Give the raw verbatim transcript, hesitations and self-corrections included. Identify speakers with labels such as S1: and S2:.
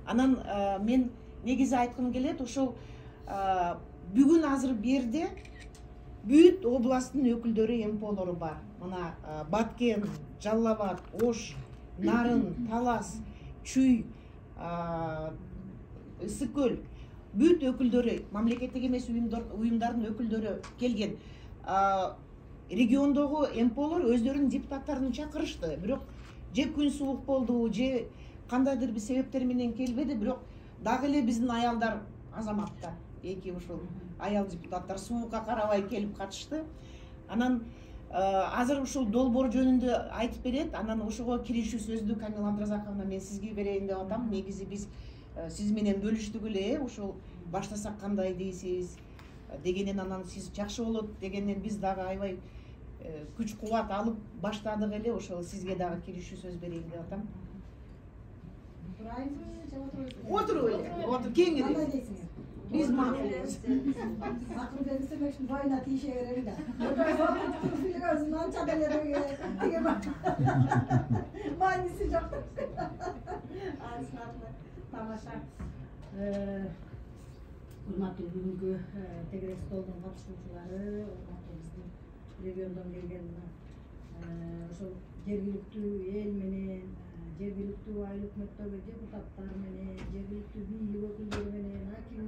S1: Анан мен негизи айткым келет, ошол бүгүн азыр бу жерде бүт областтын өкүлдөрү, эм пэ олору бар. Мына Баткен, Жалал Абад, Ош, Нарын, Талас, Чүй, Ысык көл бүт өкүлдөрү, мамлекеттик эмес уюмдардын өкүлдөрү келген. Региондогу эм пэ олор өздөрүнүн депутаттарын чакырышты. Бирок же күн суук болду, же кандайдыр бир себептер менен келбеди, бирок дагы эле биздин аялдар, азаматтар, эки ушул аял депутаттар суукка карабай келип катышты. Анан азыр ушул долбоор жөнүндө айтып берет. Анан ошого киришүү сөздү Камила Абдразаковна мен сизге берейин деп атам. Негизи биз сиз менен бөлүштүк эле, ошол баштасак кандай дейсиз дегенен, анан сиз жакшы болот дегенден биз дагы аябай күч кубат алып баштадык эле. Ошол сизге дагы киришүү сөз берейин деп атам. Отуруп эле, отуруп кеңири. Биз макулбуз.
S2: Макул берсе мешин бойуна тийише берели да. Өзүн анча деле тиге мааниси жок.
S3: Тамаша. Урматтуу бүгүнкү тегерек столдун катышуучулары, урматтуу биздин региондон келген ошол жергиликтүү эл менен, жергиликтүү айыл өкмөттөгү депутаттар менен, жергиликтүү бийлик өкүлдөрү менен, аким